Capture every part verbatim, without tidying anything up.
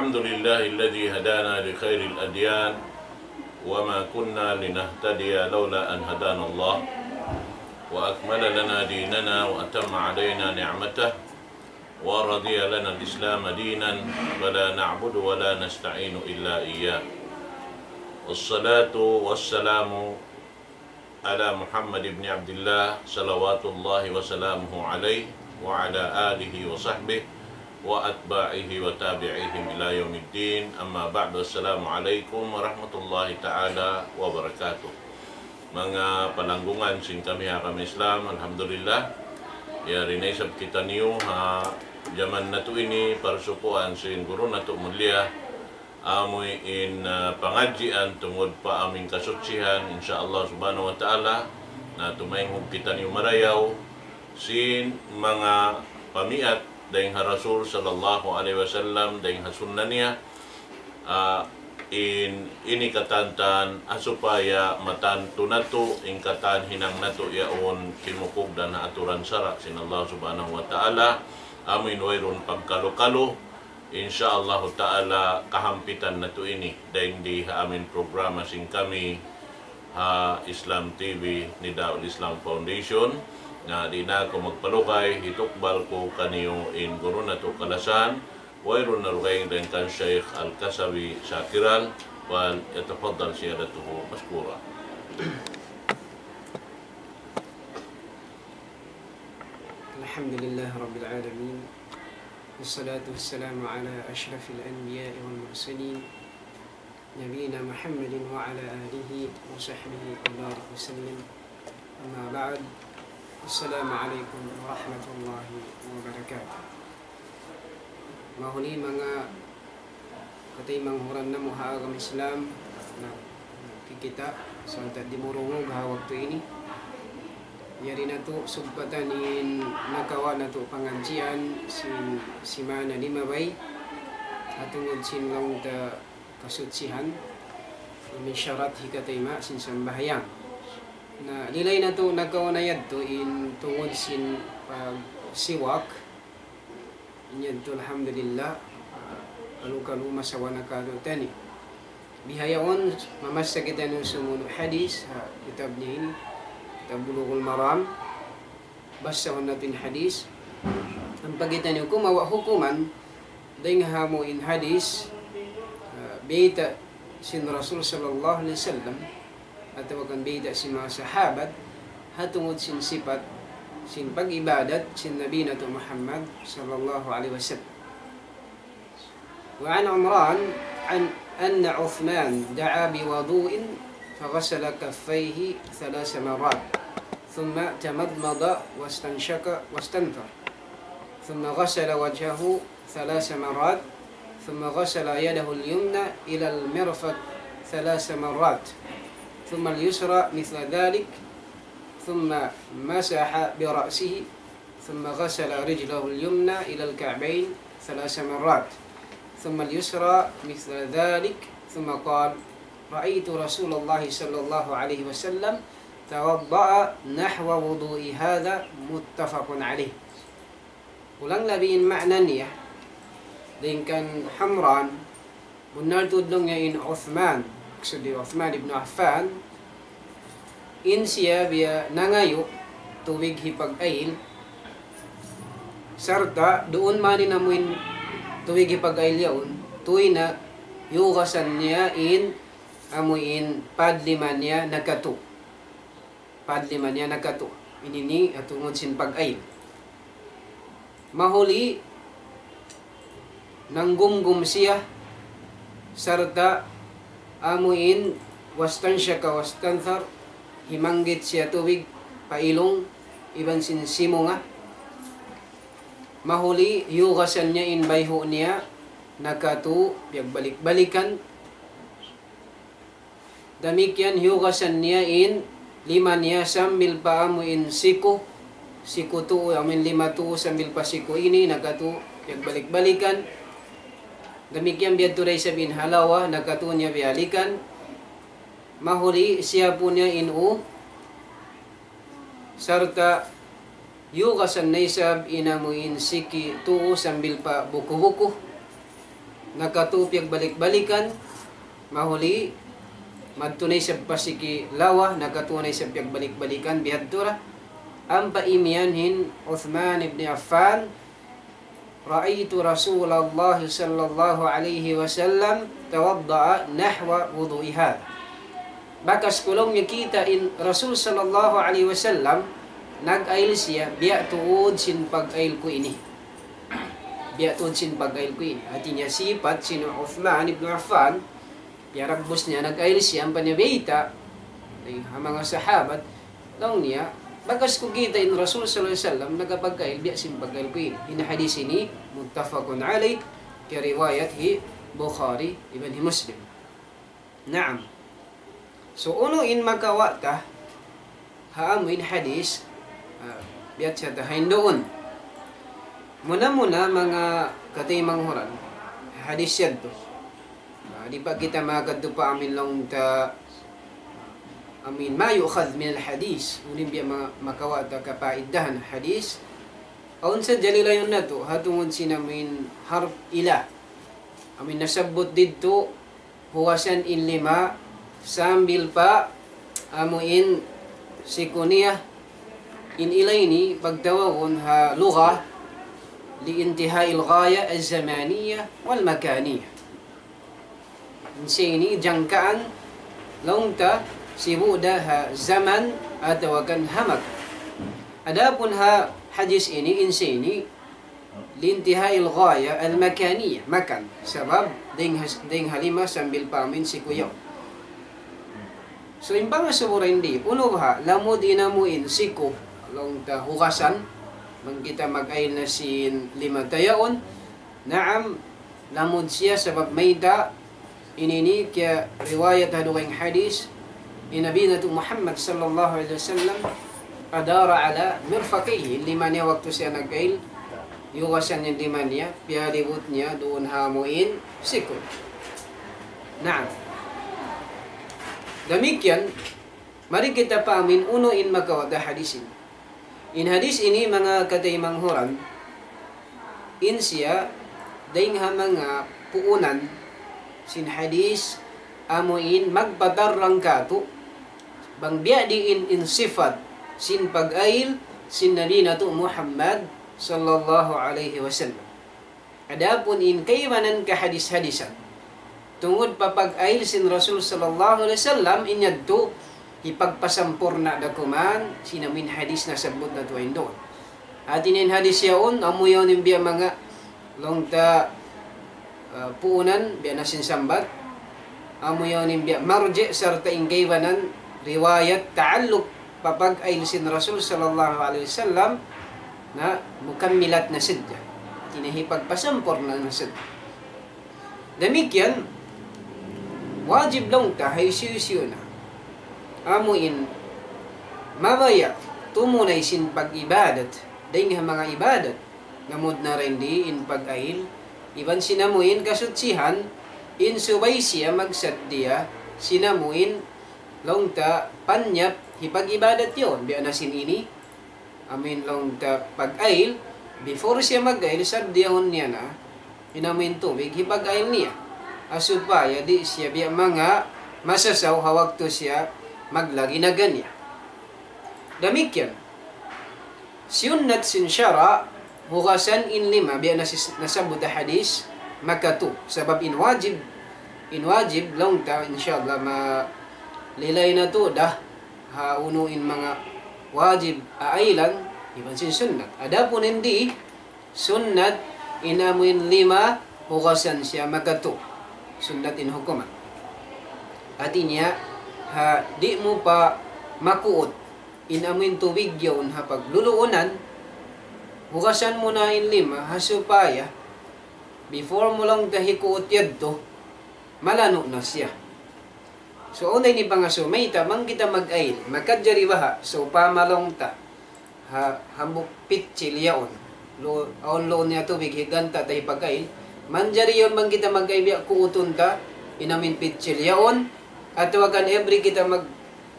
الحمد لله الذي هدانا لخير الأديان وما كنا لنهتدي لولا أن هدانا الله وأكمل لنا ديننا وأتم علينا نعمته ورضي لنا الإسلام دينا فلا نعبد ولا نستعين إلا إياه. والصلاة والسلام على محمد بن عبد الله صلوات الله وسلامه عليه وعلى آله وصحبه وأتباعه وتابعيهم إلى يوم الدين. أما بعد، السلام عليكم ورحمة الله تعالى وبركاته. Manga palanggungan sin kami ha agama Islam, alhamdulillah. Yari na isab kitaniyu ha jaman natu' ini, parsukuan sin guru natu' mulia, amuin, ah, pangadjian tungud pa amuin kasuchihan, insya Allah subhanahu wa ta'ala, na tumaynghug kitaniyu marayaw sin manga pamiyat dayn ha Rasul sallallahu alayhi wasallam, dayn ha sunna niya, ah, in, ini katantan, ah, supaya matantu natu', in katan hinang natu' yaun, kimukug dayn ha aturan sara' sin Allah subhanahu wa ta'ala, amuin wayruun pagkalu-kalu, insya Allah ta'ala, kahampitan natu' ini, dayn di ha amuin programa sin kami, ha Islam T V, Nidaul Islam Foundation. Na di' na aku magpalugay, hitukbal ku kaniyu in guru natu' kalasahan, wayruun na dugaing dayn kan Shaykh Al-Kasawi Shakiral, وليتفضل سيادته مشكورا. الحمد لله رب العالمين، والصلاة والسلام على أشرف الأنبياء والمرسلين، نبينا محمد وعلى آله وصحبه وبارك وسلم. أما بعد، السلام عليكم ورحمة الله وبركاته. Mahuli manga kataymanghuran namu' ha agama Islam, na, kikita', sarta' dimurungug ha waktu ini. Yari natu' sugpatan in nakawa' natu' pangadjian sin simana limabay, ha tungud sin laung ta kasuchihan, amuin sharat hikatayma' sin sambahayang. Na, lilay natu' nakauna yadtu in tungud sin pagsiwak. In yadtu alhamdulillah, ah, kalu-kalu masawa na katu' tani. Bihaun, mamassa kitaniyu sumunu' hadis, ha, kitab niya ini, kitab Bulughul Maram. Basahun natu' in hadis. Ampa kitaniyu kumawa' hukuman, dayn ha amuin hadis, ah, bayta' sin Rasul sallallahu alayhi wasallam, atawa kan bayta' sin manga sahabat, ha tungud sin sipat, sin pag-ibadat, sin Nabi natu' Muhammad sallallahu alayhi wasallam. وعن عمران عن أن عثمان دعا بوضوء فغسل كفيه ثلاث مرات ثم تمضمض واستنشق واستنثر ثم غسل وجهه ثلاث مرات ثم غسل يده اليمنى إلى المرفق ثلاث مرات ثم اليسرى مثل ذلك ثم مسح برأسه ثم غسل رجله اليمنى إلى الكعبين ثلاث مرات ثم اليسرى مثل ذلك ثم قال: رأيت رسول الله صلى الله عليه وسلم توضأ نحو وضوئي هذا، متفق عليه. Kulang labi in ma'na niya, dayn kan Umran, bunnal tuud laung niya in Uthman, maksud hi Uthman ibn Affan, in siya biya' nangayu' tubig hipag-ayil, sarta' duun man in amuin tubig hipag-ayil yaun, tuwi na hiyugasan niya in amuin pad lima niya nakatu'. Pad lima niya nakatu'. Ini ini ha tungud sin pag-ayil. Mahuli nanggumgum siya, sarta' amuin واستنشق واستنثر, himanggit siya tubig pa ilung iban sin simunga. Mahuli hiyugasan niya in bayhu' niya nakatu', piyagbalik-balikan. Damikkiyan hiyugasan niya in lima niya sambil pa amuin siku, siku tuu, amuin lima tuu sambil pa siku ini, nakatu' piyagbalik-balikan. Damikkiyan biyadtu da isab in halawa, nakatu' niya biyalikan. Mahuli siyapu niya in ū, sarta' hiyugasan na isab in amuin siki tuu sambil pa buku-buku. nakatū piyagbalik-balikan, mahuli, madtu na isab pa siki lawa, nakatū na isab piyagbalik-balikan, bihadtu ra. Ampa imiyan hi Uthman ibn Affan, رأيت رسول الله صلى الله عليه وسلم توضأ نحو وضوئي هذا. Bakas ku laung niya kita' in Rasul sallallahu alayhi wasallam, nag-ayil siya, biya' tuud sin pag-ayil ku ini. Biya' tuud sin pag-ayil ku ini. Hātinya sipat sin Uthman ibn Affan, piyaragbus niya, nag-ayil siya, ampa niya biyayta', ay, ha manga sahabat, laung niya, bakas ku kita' in Rasul sallallahu alayhi wasallam, nagapag-ayil, biya' sin pag-ayil ku ini. In hadis ini, muttafaqun alayh, kiyariwayat hi Bukhari, iban hi Muslim. Naam. So, unu in makawa' ta, ha amu in hadis, ah, biya' siya ta hain duun. Muna-muna, manga kataymanghuran, hadis yadtu. Ah, di' pa kita makadtu pa amin laung ta, amin ma yu'khadh min al-hadis. Unu in biya' ma-, makawa' ta kapaidahan hadis. Awn sa jalilayun natu', ha tungud sin amin harf ila. Amin nasabbut didtu, hugasan in lima, sambil pa amu in siku niya, in ila ini pagtawagun ha lugha, لانتهاء الغاية الزمانية والمكانية. In siya ini jangkaan laung ta sibu' da ha zaman atawa kan ha makan. Adapun ha hadis ini, in siya ini, لانتهاء الغاية المكانية, makan. Sabab, dayng ha-, dayng ha lima sambil pa amin siku yaun. So, in pangasubu dayn di, unu baha', lamud in amu in siku, laung ta hugasan, bang kita mag-ayil na sin lima ta yaun, naam, lamud siya sabab mayta', ini ini kiyariwayat ha dugaing hadis, in Nabi natu' Muhammad sallallahu alayhi wasallam, أدار على مرفقيه, in lima niya waktu siya nag-ayil, hugasan niya in lima niya, piyalibut niya duun ha amu in siku. Naam. Damikkiyan, mari kita pa amin unu in makawa' ta hadis ini. In hadis ini, manga kataymanghuran, in siya, dayng ha manga puunan sin hadis, amu in magpatarrang kātu', bang biya' diin in sifat sin pag-ayil sin Nabi natu' Muhammad sallallahu alayhi wasallam. Adapun in kaibanan kahadis-hadisan, tungud pa pag-ayil sin Rasul sallallahu alayhi wasallam, in yadtu, hipagpasampurna' da kuman sin amu in hadis nasabbut natu' hain duun. Hāti niya in hadis yaun, amu yaun in biya' manga laung ta, ah, puunan, biya' na sin sambat, amu yaun in biya' marji' sarta' in kaibanan riwayat ta'alluq pa pag-ayil sin Rasul sallallahu alayhi wasallam, na mukammilat na sadja. Hāti niya hipagpasampurna' na sadja. Damikkiyan, wajib laung ta ha hisiyu-siyu na amu in mabaya' tumunay sin pag-ibadat, dayng ha manga ibadat, lamud na dayn di in pag-ayil, iban sin amu in kasuchihan, in subay siya magsaddiya sin amu in laung ta panyap hipag-ibadat yaun, biya' na sin ini, amu in laung ta pag-ayil, before siya mag-ayil, saddiyahun niya na in amu in tubig hipag-ayil niya. Ha supaya di' siya biya' manga masasaw ha waktu siya maglagi na ganiya. Damikkiyan. Siyunnat sin sara', hugasan in lima, biya' na sis-, nasabbut ha hadis, makatū. Sabab in wajib, in wajib, laung ta, insya Allah, malilay natu' da, ha unu in manga wajib aaylan, iban sin sunnat. Adapun in di, sunnat, in amu in lima, hugasan siya makatū. Sunnat in hukuman. Hāti niya, ha, di' mu pa makuut in amu in tubig yaun ha pagluluunan, hugasan mu na in lima, ha supaya, before mu laung ta hikuut yadtu, malanu' na siya. So, awn da ini pangasubu, mayta', bang kita mag-ayil, makajari baha', so, pamalaung ta, ha, hambuuk pitsil yaun. Lu-, awn luun niya tubig, higanta ta hipag-ayil. Manjari yaun bang kita mag-ayil biya' kuutun ta, in amu in pitsil yaun, atawa kan every kita mag-,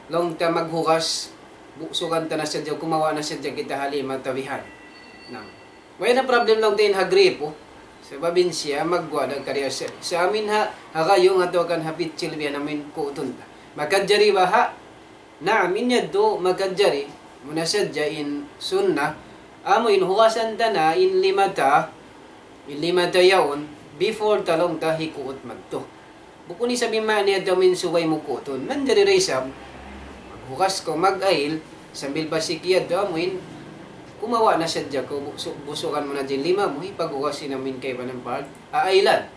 laung ta maghugas, bu-, sugan ta na sadja, kumawa' na sadja kita ha lima ta bihan. Na. Way na problem laung ta in ha gripo. Sabab in siya magguwa' da kariya sa, sa amin ha, ha gayung atawa kan ha pitsil biya' na amin kuutun ta. Makajari baha', naam, in yadtu makajari, muna sadja in sunnah, amu in hugasan ta na in lima ta, in lima ta yaun, before ta laung ta hikuut madtu. Bukun isab in maana yadtu amin subay mu kuutun. Manjari da isab, maghugas kaw mag-ayil, sambil pa siki yadtu amuin, kumawa' na sadja kaw, busu-, busugan mu na in lima mu, hipaghugas in amuin kaibanan part, aayilan.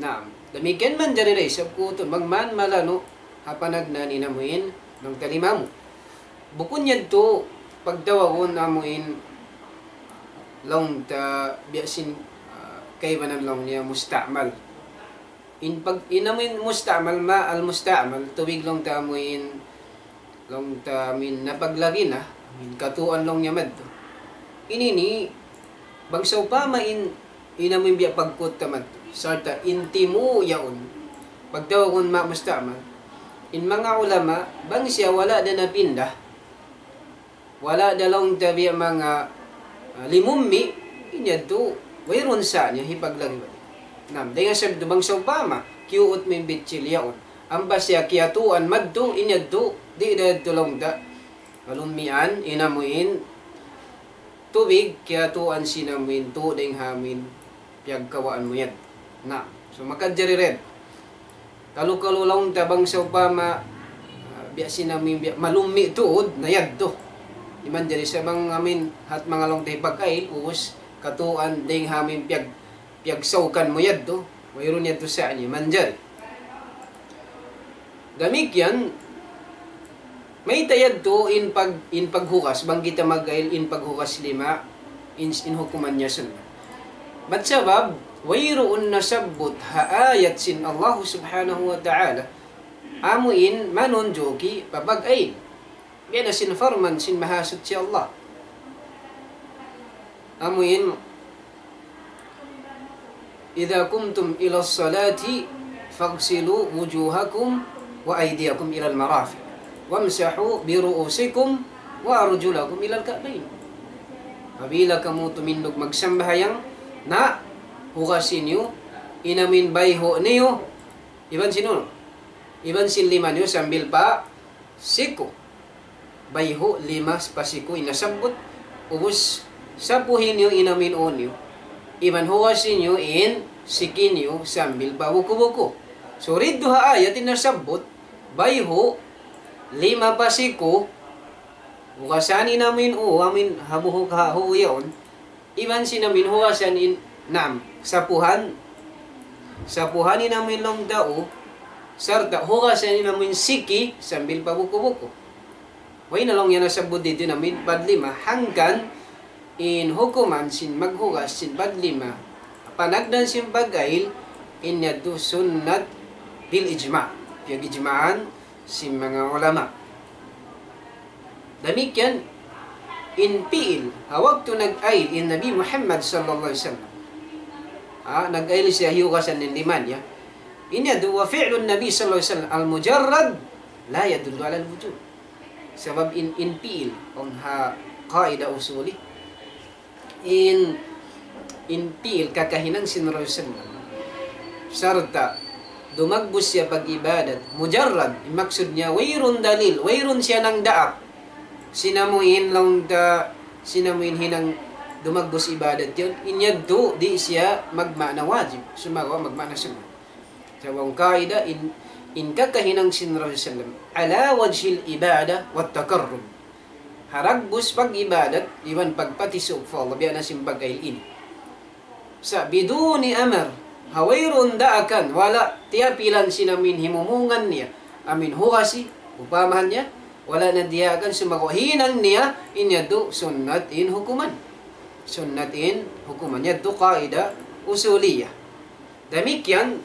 Naam. Damikkiyan manjari da isab kuutun, bang man malanu', ha panagnaan in amuin, laung ta lima mu. Bukun yadtu, pagtawagun amuin, laung ta biya' sin, ah, kaibanan laung niya musta'mal. In pag, in amuin musta'mal ma, al-musta'mal, tubig laung ta amuin, laung ta amuin napaglagi na, amuin katuan laung niya madtu. Ini ini, bang sawpama in, in amuin biya' pagkuta madtu, sarta' in timu' yaun, pagtawagun ma musta'mal, in manga ulama, bang siya wala' da napinda, wala' da laung ta biya' manga, ah, limummi', in yadtu, wayruun sa niya hipaglagi balik. Naam, dayn ha sabab yadtu bang sawpama, kiyuut mu in bitsil yaun. Ampa siya kiyatuan madtu, in yadtu, di' da yadtu laung ta, malummian, in amuin, tubig, kiyatuan sin amuin, tu dayn ha amuin, piyagkawaan mu yan. Na, so makajari rin. Kalu-kalu laung ta bang sawpama, ah, biya' sin amuin, biya' malummi' tuud, na yadtu. Di' manjari sa bang amuin, hat manga laung ta hipag-ayil, ubus, katuan, dayn ha amuin, piyag, piyagsawkan mu yadtu, wayruun yadtu sa niya, manjari. Damikkiyan, mayta' yadtu in pag, in paghugas, bang kita mag-ayil in paghugas lima, in, in hukuman niya sunnat. Bat sabab, wayruun nasabbut ha ayat sin Allah subhanahu wa ta'ala, amu in manunjuki pa pag-ayil. Biya' na sin parman sin Mahasuchi Allah. Amu in, إذا قمتم إلى الصلاة فاغسلوا وجوهكم وأيديكم إلى المرافق وامسحوا برؤوسكم وأرجلكم إلى الكعبين. Apabila kamu tumindug magsambahayang, na hugasi niyu in amuin bayhu' niyu, iban sin unu, iban sin lima niyu sambil pa siku. Bayhu' lima pa siku in nasabbut, ubus sapuhi niyu in amuin ū niyu. Iban hugasi niyu in siki niyu sambil pa buku-buku. So, didtu ha ayat in nasabbut, bayhu', lima pa siku, hugasan in amuin ū, amuin ha buhuk ha ū yaun, iban sin amuin hugasan in, naam, sapuhan, sapuhan in amuin laung ta ū, sarta' hugasan in amuin siki sambil pa buku-buku. Way na laung yan nasabbut didtu in amuin part lima, hangkan in hukuman sin maghugas sin part lima, panagnaan sin pag-ayil, in yadtu sunnat bil ijma', piyag-ijma'an sin manga ulama. Damikkiyan in pi'il, ha waktu nag-ayil in Nabi Muhammad sallallahu alayhi wasallam. Ha, nag-ayil siya, hiyugasan in lima niya. In yadtu, وفعل النبي صلى الله عليه وسلم المجرد لا يدل على الوجوب. Sabab in, in pi'il, awn ha qaida usuli, in, in pi'il kakahinang sin Rasul sallam. Sarta' dumagbus siya pag-ibadat. Mujarrad, in maksud niya, wayruun dalil, wayruun siya nangdaak. Sin amuin laung ta, sin amuin hinang dumagbus ibadat yaun, in yadtu di' siya magmaana wajib, sumagawa' magmaana sunnat. Sa' awn qaida in, in kakahinang sin Rasul sallam, على وجه العبادة والتقرب. Ha dagbus pag-ibadat, iban pagpatisuuk pa Allah, biya' na sin pag-ayil ini. Sa' بدون أمر, ha wayruun daakan, wala' tiyapilan sin amuin himumungan niya, amuin hugasi, upamahan niya, wala' na diyaakan sumagawa' hinang niya, in yadtu sunnat in hukuman. Sunnat in hukuman, yadtu qaida usuliyah. Damikkiyan,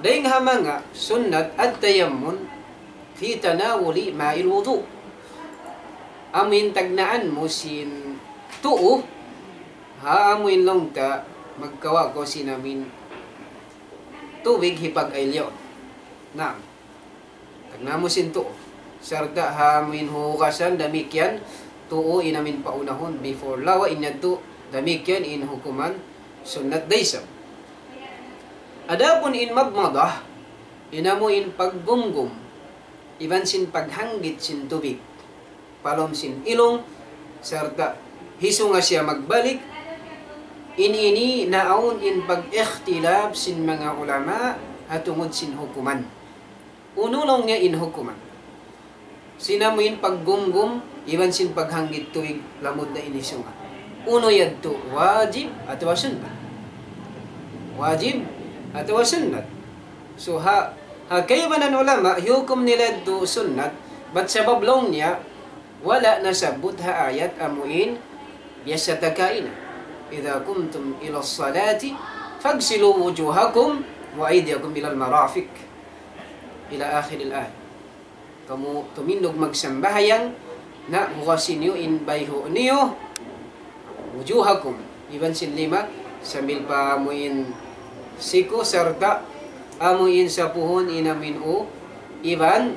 dayn ha manga sunnat التيمم في تناول ماء الوضوء. Amuin tagnaan mu sin tuu, ha amuin laung ta magkawa' kaw sin amuin tubig hipag-ayil yaun. Naam. Tagnaan mu sin tuu. Sarta' ha amuin hugasan damikkiyan, tuu in amuin paunahun, before lawa' in yadtu, damikkiyan in hukuman, sunnat da isab. Adapun in madmadah, in amu in paggumgum, iban sin paghanggit sin tubig pa lawm sin ilung, sarta' hisunga siya magbalik, in ini naawn in pag-ikhtilaf sin manga ulama ha tungud sin hukuman. Unu laung niya in hukuman sin amu in paggumgum iban sin paghanggit tubig lamud na in hisunga? Unu yadtu, wajib atawa sunnat? Wajib atawa sunnat? So, ha, ha kaibanan ulama, hiyukum nila yadtu sunnat, bat sabab laung niya, wala' nasabbut ha ayat amu in biya' sa ta kaina, إذا قمتم إلى الصلاة فاغسلوا وجوهكم وأيديكم إلى المرافق، إلى آخر الآية. Kamu tumindug magsambahayang, na hugasi niyu in bayhu' niyu, wujuhakum, iban sin lima, sambil pa amu in siku, sarta' amu in sapuhun in amu in u, iban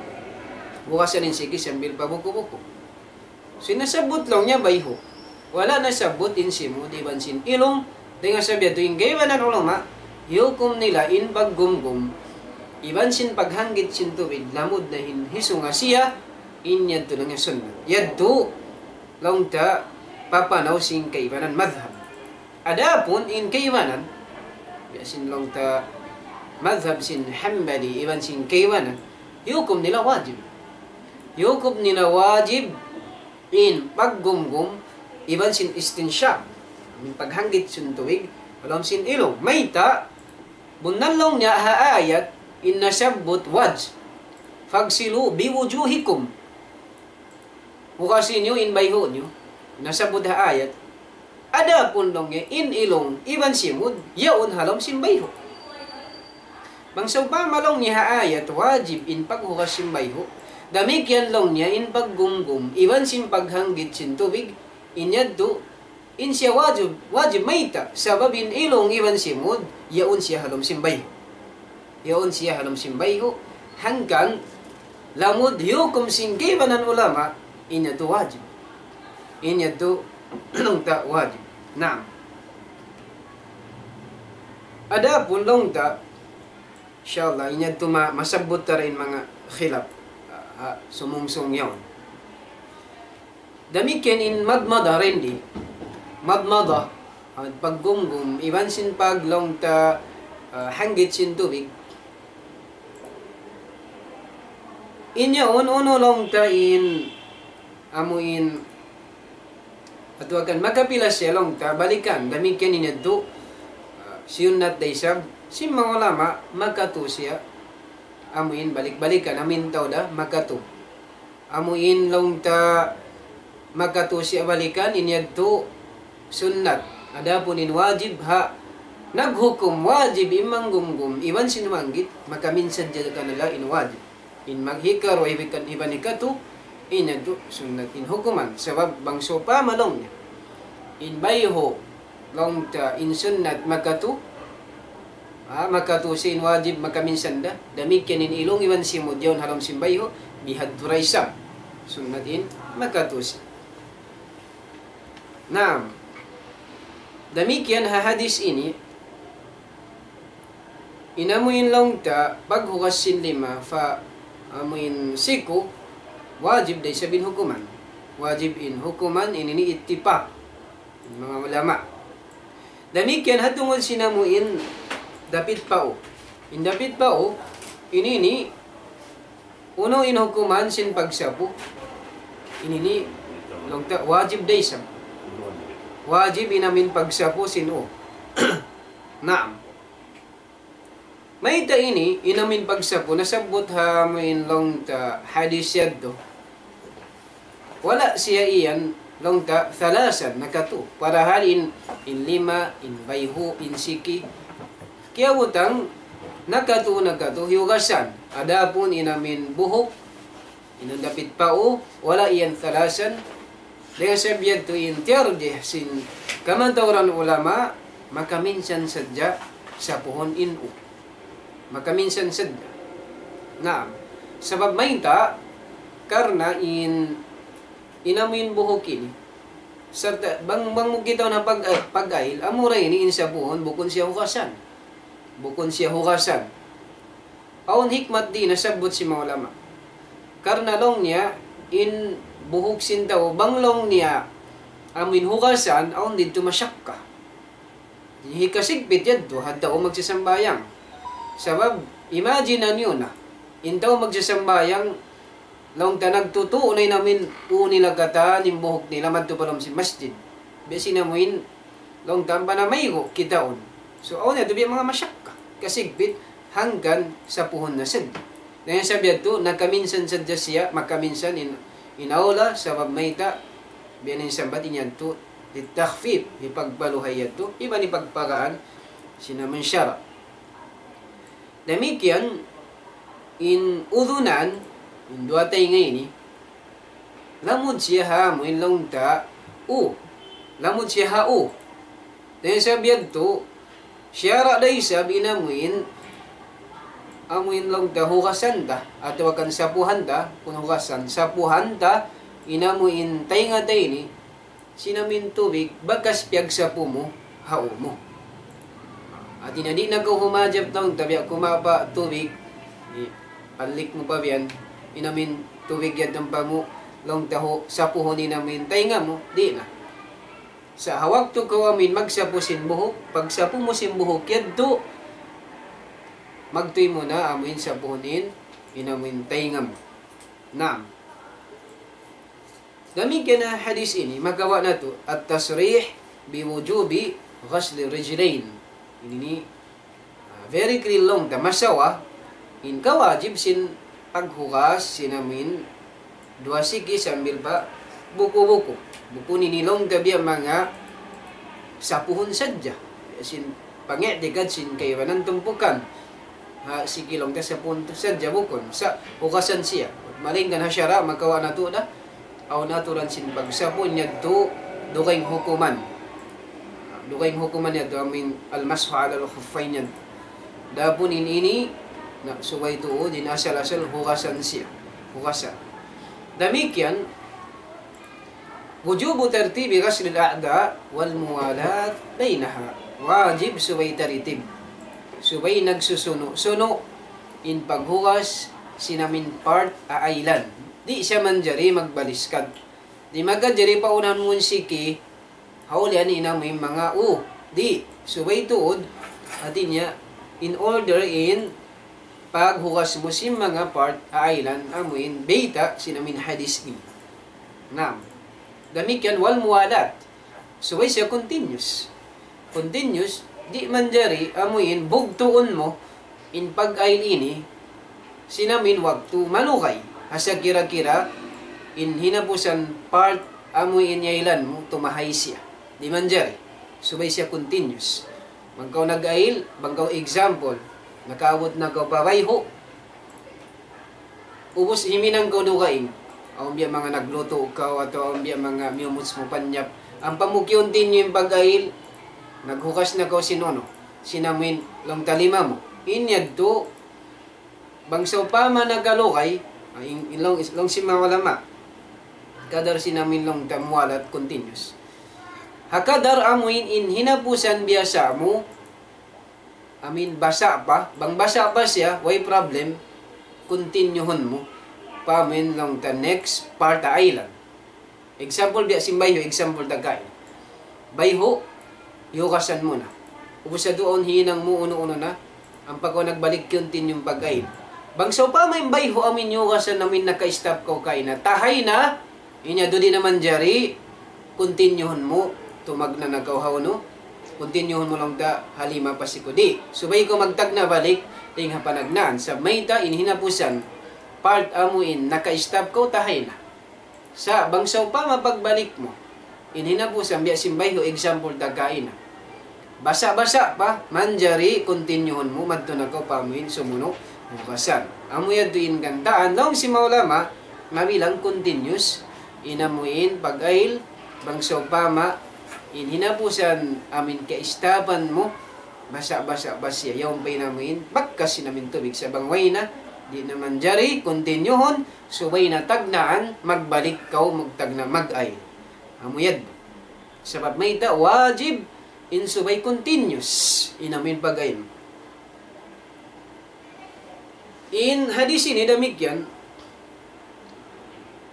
hugasan in siki sambil pa buku-buku. So, nasabbut laung niya bayhu'. Wala' nasabbut in simud iban sin ilung. Dayn ha sabab yadtu in kaibanan ulama, hiyukum nila in paggumgum iban sin paghanggit sin tubig lamud na in hisunga siya, in yadtu laung niya sunnat. Yadtu laung ta papanaw sin kaibanan madhab. Adapun in kaibanan, biya' sin laung ta madhab sin Hanbali iban sin kaibanan, hiyukum nila wajib. Hiyukum nila wajib in paggumgum iban sin istinshaq, in paghanggit sin tubig ha lawm sin ilung. Mayta', bunnal laung niya ha ayat in nasabbut wajh, فاغسلوا بوجوهكم. Hugasi niyu in bayhu' niyu. Nasabbut ha ayat. Adapun laung niya in ilung iban simud, yaun ha lawm sin bayhu'. Bang sawpama laung niya ha ayat wajib in paghugas sin bayhu', damikkiyan laung niya in paggumgum iban sin paghanggit sin tubig, in yadtu, in siya wajib, wajib mayta', sabab in ilung iban simud, yaun siya ha lawm sin bayhu'. Yaun siya ha lawm sin bayhu', hangkan lamud hiyukum sin kaibanan ulama, in yadtu wajib. In yadtu laung ta wajib. Naam. Adapun laung ta, insya Allah, in yadtu ma-, masabbut ta in manga khilaf, ah, ah, sumungsung yaun. Damikkiyan in madmada, rendi. Madmada, ah, paggumgum, iban sin pag laung ta, ah, hanggit sin tubig. In yaun, unu laung ta in, amu in, atawa kan makapila siya laung ta, balikan, damikkiyan in yadtu, ah, siyunnat da isab, sin manga ulama, makatu siya, amu in balik-balikan, amu in tau da, makatu. Amu in laung ta makatu siya balikan, in yadtu sunnat. Adapun in wajib ha, naghukum wajib in manggumgum, iban sin manggit, makaminsan sadja kanila in wajib. In maghikaruwa iban, iban hikatu, in yadtu sunnat in hukuman. Sabab bang sawpama laung niya in bayhu', laung ta in sunnat makatu, ah, makatu siya in wajib makaminsan da. Damikkiyan in ilung iban simud yaun ha lawm sin bayhu', bihadtu da isab. Sunnat in makatu siya. Naam. Damikkiyan ha hadis ini, in amu in laung ta paghugas sin lima pa amu in siku, wajib da isab in hukuman. Wajib in hukuman, in ini ittifaq manga ulama. Damikkiyan ha tungud sin amu in dapit pau. In dapit pau, in ini, unu in hukuman sin pagsapu? In ini, laung ta, wajib da isab. Wajib in amu in pagsapu sin u. Naam. Mayta' ini, in amu in pagsapu, nasabbut ha amu in laung ta hadis yadtu. Wala' siya iyan laung ta thalathan, nakatu. Padahal in, in lima, in bayhu', in siki, kiyabutang nakatu, nakatu, hiyugasan. Adapun in amu in buhuk, in dapit pau, wala' iyan thalathan. Dayn ha sabab yadtu in tiyarjih sin kamatauran ulama, makaminsan sadja sapuhun in u. Makaminsan sadja. Naam. Sabab mayta', karna' in, in amu in buhuk ini, Sarta' bang, bang mu kitaun na pag-, eh, pag-ail, amura ini in sapuhun, bukun siya hugasan. Bukun siya hugasan. Awn hikmat di' nasabbut sin manga ulama. Karna' laung niya, in buhuk sin tau, bang laung niya, amuin hugasan, awn didtu masyakka. Hikasigpit yadtu, ha tau magsasambahayang. Sabab, imagine niyu na, in tau magsasambahayang, laung ta nagtutu' na in amuin ū nila katan, in buhuk nila, madtu pa lawm sin masjid. Biya' sin amuin, laung ta ampa na maygu' kitaun. So, awn yadtu biya' manga masyakka. Kasigpit, hangkan sapuhun na sadja. Na in sabab yadtu, nakaminsan sadja siya, makaminsan in, in awla, sabab mayta', biya' na in sambat in yadtu, للتخفيف, hipagpaluhay yadtu, iban hipagpagaan, sin amuin sara'. Damikkiyan, in udhunan, in duwa taynga ini, lamud siya ha amuin laung ta, ū. Lamud siya ha ū. Na in sabab yadtu, sara' da isab in amuin, amuin laung ta hugasan ta, atawa kan sapuhan ta, bukun hugasan, sapuhan ta, in amuin taynga ta ini, sin amuin tubig, bakas piyagsapu mu, ha ū mu. Hati niya di' na kaw humajap laung ta biya' kumapa' tubig, i-, panlik mu pa biya' yan, in amuin tubig yadtu ampa mu, laung ta hu-, sapuhun in amuin taynga mu, di' na. Sa' ha waktu kaw amuin magsapu sin buhuk, pagsapu mu sin buhuk yadtu, magtuy mu na amuin sapuhun in, in amuin taynga mu. Naam. Damikkiyan ha hadith ini, makawa' natu' التصريح بوجوب غسل الرجلين. Ini, ah, very clear laung ta, masawa, in kawajib sin paghugas sin amuin duwa siki sambil pa buku-buku. Bukun ini laung ta biya' manga sapuhun sadja. Sin pangi'tikad sin kaibanan tumpukan. Ha, siki laung ta sapuhun sadja bukun. Sa' hugasan siya. Malaingkan ha sara', makawa' natu' da. Awn aturan sin pagsapu yadtu dugaing hukuman. Dugaing hukuman yadtu amuin المسح على الخفين yadtu. Adapun in ini, na, subay tuud in asal-asal hugasan siya. Hugasan. Damikkiyan, وجوب ترتيب غسل الأعضاء والموالاة بينها. Wajib subay tartib. Subay nagsusunu'-sunu' in paghugas sin amuin part aailan. Di' siya manjari magbaliskad. Di' makajari paunahan mu in siki, ha ulihan in amuin manga ū. Di', subay tuud, hati niya, in order in paghugas mu sin manga part aailan amuin bayta' sin amuin hadith ini. Naam. Damikkiyan والموالاة. Subay siya continuous. Continuous, di' manjari amuin bugtuun mu in pag-ail ini sin amuin waktu malugay. Hasa kira-kira in hinapusan part amuin iyailan mu tumahay siya. Di' manjari. Subay siya continuous. Bang kaw nag-ail, bang kaw example, nakaabut na kaw pa bayhu', ubus himinang kaw dugaing. Awn biya' manga naglutu' kaw atawa awn biya' manga miyumuts mu panyap. Ampa mu kiyuntinyu in pag-ail, naghugas na kaw sin unu, sin amuin laung ta lima mu. In yadtu, bang sawpama nakalugay, ah, in, in laung, laung sin manga ulama, kadar sin amuin laung ta muwalat continuous. Ha kadar amuin in hinapusan biyasa mu, amuin basa' pa, bang basa' pa siya, way problem, continuehun mu pa amuin laung ta next part aailan. Example, biya' sin bayhu', example ta kaina. Bayhu', hiyugasan mu na. Ubus yadtu awn hinang mu, unu-unu na, ampa kaw nagbalik continue in pag-ail. Bang sawpama in bayhu' amuin hiyugasan amuin naka-stop kaw kaina, tahay na, in yadtu di' na manjari, continuehun mu, tumagna' na kaw ha unu, continuehun mu laung ta ha lima pa siku. Di', subay kaw magtagna' balik, dayn ha panagnaan. Sa' mayta', in hinapusan, part amuin naka-stop kaw, tahay na. Sa' bang sawpama pagbalik mu, in hinapusan biya' sin bayhu', example ta kaina, basa'-basa' pa, manjari continuehun mu, madtu na kaw pa amuin sumunu' hugasan. Amu yadtu in kantaan, laung sin manga ulama, mabilang continuous in amuin pag-ail, bang sawpama in hinapusan amuin ka-stop-an mu, basa'-basa' pa siya, yaun pa in amuin bakas sin amuin tubig. Sa' bang way na, di' na manjari continuehun, subay na tagnaan, magbalik kaw magtagna' mag-ail. Amu yadtu. Sabab mayta', wajib in subay continuous in amuin pag-ayil. In hadis ini damikkiyan,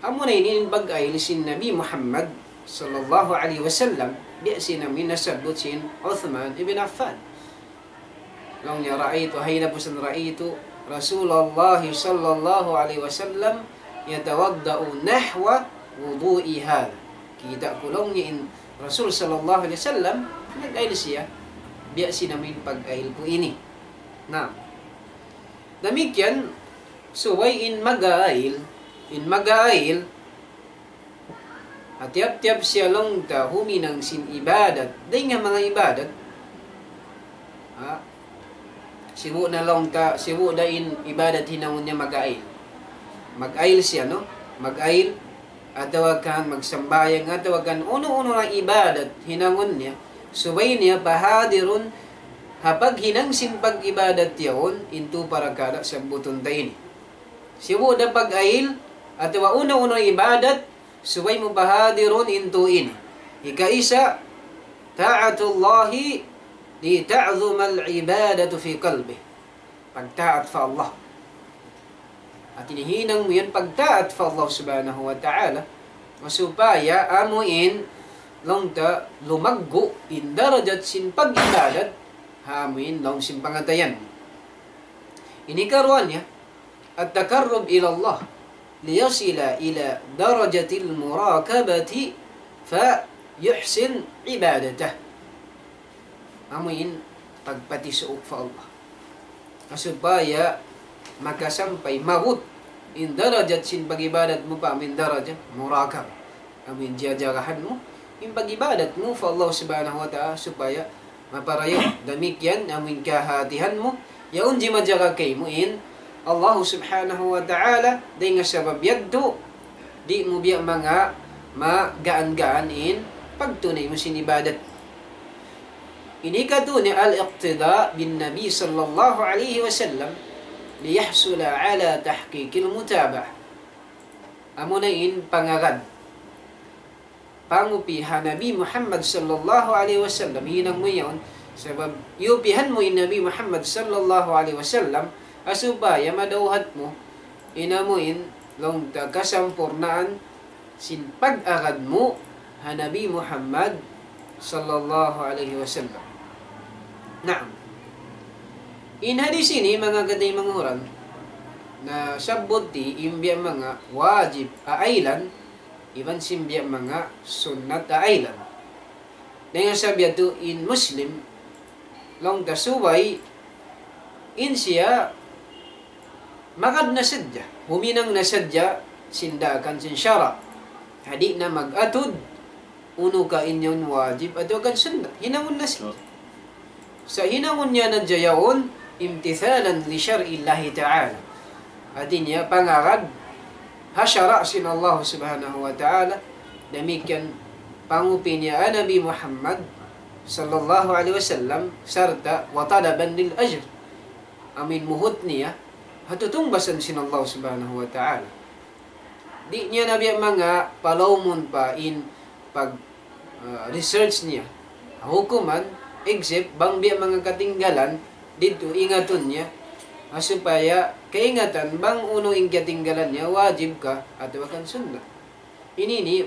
amuna ini in pag-ayil sin Nabi Muhammad sallallahu alayhi wasallam, biya' sin amuin nasabbut sin Uthman ibn Affan. Laung niya, رأيت, hayna pusan, رأيت رسول الله صلى الله عليه وسلم يتوضأ نحو وضوئي هذا. Kita' ku laung niya in Rasul sallallahu alayhi wasallam, nag-ayil siya, biya' sin amuin pag-ayil ku ini. Na, damikkiyan, subay in mag-ayil, in mag-ayil, ha tiyap-tiyap siya laung ta huminang sin ibadat, dayn ha manga ibadat. Ha? Sibu' na laung ta, sibu' da in ibadat hinangun niya mag-ayil. Mag-ayil siya, no? Mag-ayil, atawa kan magsambahayang, atawa kan unu-unu na ibadat hinangun niya, subay niya pahadirun ha paghinang sin pag-ibadat yaun, in tu parakala' sabbutun ta ini. Sibu' da pag-ayil, atawa unu-unu ibadat, subay mu pahadirun in tu ini. Ikaisa, طاعة الله لتعظم العبادة في قلبه. Pagtaat pa Allah. Hati niya hinang mu yan pagtaat pa Allah subhanahu wa ta'ala. Supaya amuin laung ta lumaggu' in darajat sin pag-ibadat, ha amuin lawm sin pangatayan. Ini karuwa niya, التقرب إلى الله ليصل إلى درجة المراقبة فيحسن عبادته. Amuin pagpatisuuk pa Allah. Supaya makasampay, maabut in darajat sin pag-ibadat mu pa amuin darajat muraqabah. Amuin jajagahan mu in pag-ibadat mu pa Allah subhanahu wa ta'ala supaya maparayaw. Damikkiyan amuin kahatihan mu, yaun jimajaga kaymu in Allah subhanahu wa ta'ala, dayn ha sabab yadtu, di' mu biya' manga magaan-gaan in pagtunay mu sin ibadat. Ini katu' niya الاقتداء بالنبي صلى الله عليه وسلم ليحصل على تحقيق المتابعة. Amuna in pangagad, pangupi ha Nabi Muhammad sallallahu alayhi wasallam, hinang mu yaun, sabab iyupihan mu in Nabi Muhammad sallallahu alayhi wasallam, ha supaya madawhat mu, in amuin laung ta kasampurnaan sin pag-agad mu ha Nabi Muhammad sallallahu alayhi wasallam. Naam. In hadis ini, manga kataymanghuran, nasabbut di in biya' manga wajib aaylan, iban sin biya' manga sunnat aaylan. Dayn ha sabab yadtu in Muslim, laung ta subay, in siya magad na sadja, huminang na sadja sin daakan sin sara'. Di' na mag-atud, unu ka in yaun wajib atawa kan sunnat. Hinangun na sadja. Sa' hinangun niya na sadja yaun امتثالا لشرع الله تعالى. Hati niya pangagad ha sara' sin Allah subhanahu wa ta'ala. Damikkiyan pangupi niya ha Nabi Muhammad sallallahu alayhi wasallam sarta' وطلبا للأجر. Amuin muhut niya ha tutungbasan sin Allah subhanahu wa ta'ala. Di' niya na biya' manga palawmun pa in pag, ah, research niya ha hukuman, except bang biya' manga katinggalan didtu ingatun niya, ha supaya kaingatan bang unu in katinggalan niya, wajib ka atawa kan sunnat. Ini ini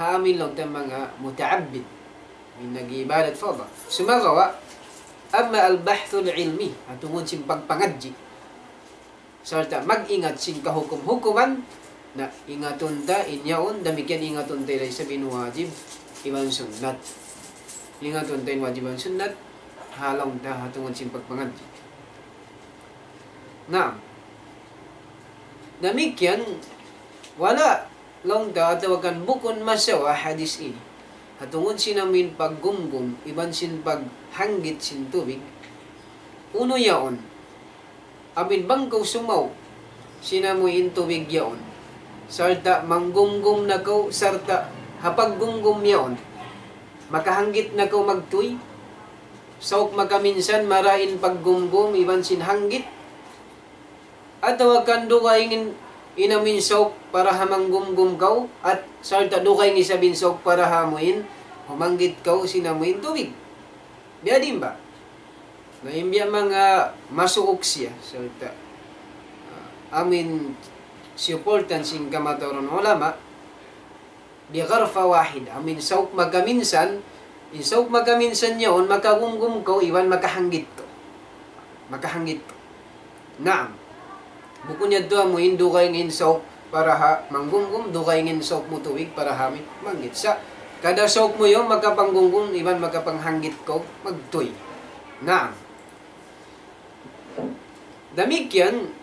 ha amuin laung ta manga muta'abbid, in nag-iibadat pa Allah. Sumagawa', أما البحث العلمي, ha tungud sin pagpangadji' sarta' mag-ingat sin kahukum-hukuman, na ingatun ta in yaun, damikkiyan ingatun ta da isab in wajib iban sunnat. Ingatun ta in wajib iban sunnat, ha laung ta ha tungud sin pagpangadji'. Naam. Damikkiyan, wala' laung ta atawa kan bukun masawa hadis ini. Ha tungud sin amuin paggumgum, iban sin paghanggit sin tubig. Unu yaun? Amuin bang kaw sumaw sin amuin tubig yaun, sarta' manggumgum na kaw, sarta' ha paggumgum yaun, makahanggit na kaw magtuy, sauk makaminsan marayaw in paggumgum iban sin hanggit, atawa kan dugaing in, in amuin sauk para ha manggumgum kaw, at sarta' dugaing isab in sauk para ha amuin Humanggit kaw sin amuin tubig. Biya' diin ba? Na in biya' manga masuuk siya. So, ta, ah, amuin supportan sin kamatauran ulama, بغرفة واحدة. Amuin sauk makaminsan, in sauk makaminsan yaun, makagumgum kaw, iban makahanggit kaw. Makahanggit kaw. Naam. Bukun yadtu amuin dugaing in sauk para ha manggumgum, dugaing in sauk mu tubig para ha mi manggit. Sa', kada sauk mu yaun makapanggumgum, iban makapanghanggit kaw, magtuy. Naam. Damikkiyan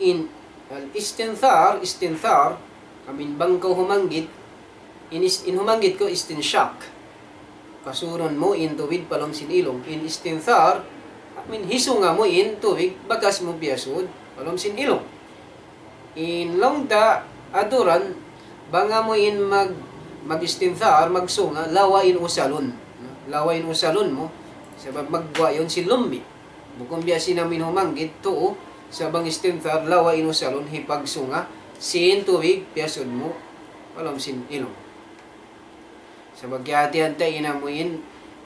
in al-istinthar, istinthar, amuin bang kaw humanggit, in, is, in humanggit kaw istinshaq. Pasurun mu in tubig pa lawm sin ilung. In istinthar, amuin hisunga mu in tubig, bakas mu piyasud pa lawm sin ilung. In laung ta aturan, bang amuin mag, mag-istinthar, magsunga, lawa in usalun. Lawa in usalun mu, sabab magguwa' yaun sin lummi'. Bukun biya' sin amuin humanggit, tuu, sa' bang istinthar, lawa in usalun, hipagsunga sin tubig, piyasud mu pa lawm sin ilung. Sabab kiyahatihan ta in amuin,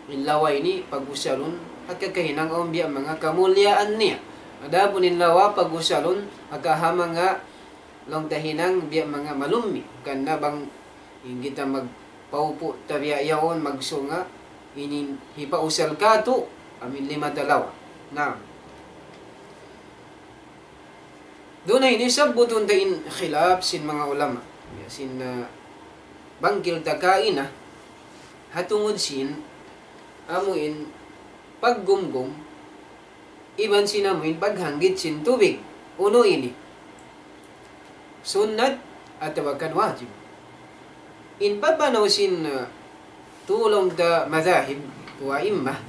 in lawa ini, pag-usalun, ha kakahinang awn biya' manga kamuliaan niya. Adapun in lawa, pag-usalun, ha kaha manga laung ta hinang biya' manga malummi'. Karna' bang in kita magpaupu' ta biya' yaun magsunga, ini hipausal katu', amuin lima ta lawa. Naam. Duun na ini sabbutun ta in khilaf sin manga ulama. Ya, sin, ah, bangkil ta kaina, ha tungud sin, amuin paggumgum, iban sin amuin paghanggit sin tubig. Unu ini? Sunnat atawa kan wajib? In papanaw sin, uh, tū laung ta madhahib, tū a'immah,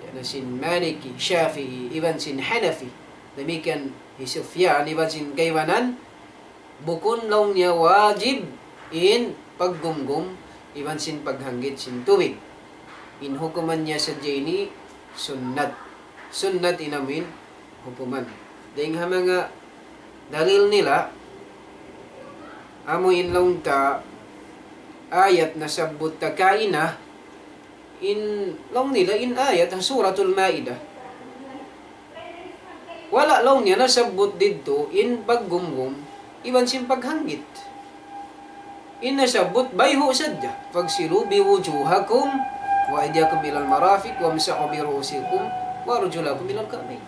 yan sin Maliki, Shafi'i, iban sin Hanafi. Damikkiyan hi Sufyan, iban sin kaibanan, bukun laung niya wajib in paggumgum iban sin paghanggit sin tubig. In hukuman niya sadja ini sunnat. Sunnat in amuin hukuman. Dayn ha manga dalil nila, amuin laung ta ayat nasabbut ta kaina, in laung nila in ayat ha Suratul Maidah. Wala' laung niya nasabbut didtu in paggumgum iban sin paghanggit. In nasabbut bayhu' sadja. فاغسلوا وجوهكم وأيديكم إلى المرافق وامسحوا برؤوسكم وأرجلكم إلى الكعبين.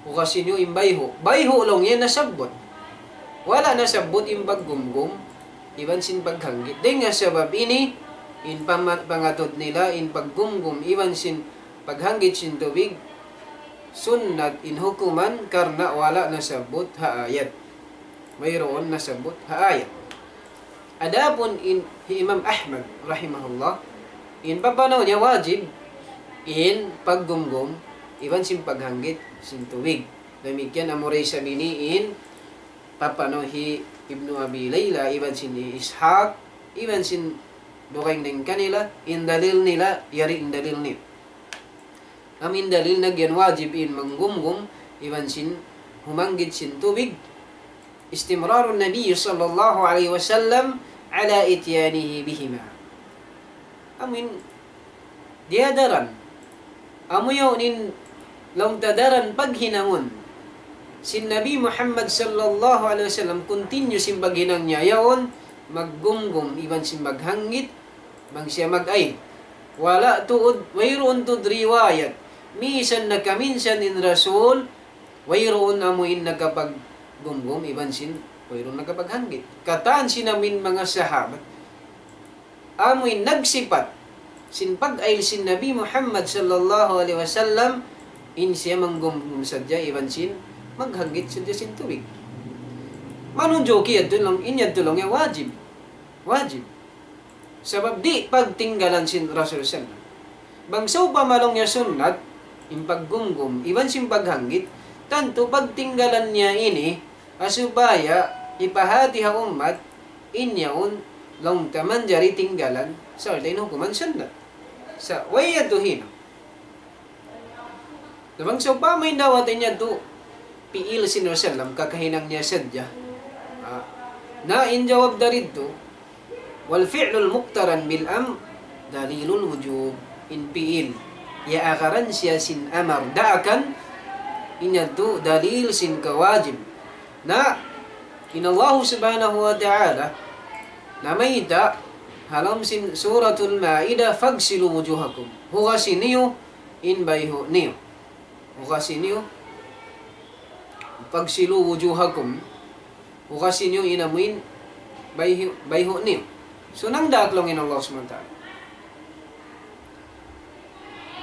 Hugasan niyu in bayhu'. Bayhu' laung niya nasabbut. Wala' nasabbut in paggumgum iban sin paghanggit. Dayn ha sabab ini, in pama-, pangatud nila, in paggumgum iban sin paghanggit sin tubig, sunnat in hukuman karna' wala' nasabbut ha ayat. Wayruun nasabbut ha ayat. Adapun in, hi Imam Ahmad rahimahullah, in papanaw niya wajib in paggumgum iban sin paghanggit sin tubig. Damikkiyan amura isab ini in papanaw hi Ibnu Abi Layla iban sin hi Ishaq, iban sin dugaing dayn kanila, in dalil nila, yari in dalil nila. Amuin dalil nila yan wajib in manggumgum iban sin humanggit sin tubig. استمرار النبي صلى الله عليه وسلم على إتيانه بهما. Amuin diyadaran. Amu yaun in laung ta daran paghinangun sin Nabi Muhammad sallallahu alayhi wasallam, continue sin paghinang niya yaun, maggumgum iban sin maghanggit, bang siya mag-ayl. Wala' tuud, wayruun tuud riwayat. Misan nakaminsan in Rasul, wayruun amuin nakapaggumgum iban sin, wayruun nakapaghanggit. Katan sin amuin manga sahabat, amuin nagsipat sin pag-ayl sin Nabi Muhammad sallallahu alayhi wasallam, in siya manggumgum sadja iban sin maghanggit sadja sin tubig. Manunjuki yadtu laung, in yadtu laung niya wajib. Wajib. Sabab di' pagtinggalan sin Rasul sallam. Bang sawpama laung niya sunnat, in paggumgum, iban sin paghanggit, tantu pagtinggalan niya ini, ha supaya ipahati ha ummat, in yaun laung ta manjari tinggalan, sarta' in hukuman sunnat. Sa' way yadtu hinang. Na bang sawpama in dawat in yadtu, pi'il sin Rasul sallam, kakahinang niya sadja. Ah, na in jawab daridtu, والفعل المقترن بالأمر dalilul wujub, in fi'il. Iyaagaran siya sin amar. Daakan, in yadtu dalil sin kawajib. Na, in Allah subhanahu wa ta'ala, namayta', ha lawm sin Suratul Ma'idah, فاغسلوا وجوهكم. Hugasi niyu in bayhu' niyu. Hugasi niyu. فاغسلوا وجوهكم. Hugasi niyu in amuin bayhu-, bayhu' niyu. So, nangdaak laung in Allah subhanahu wa ta'ala.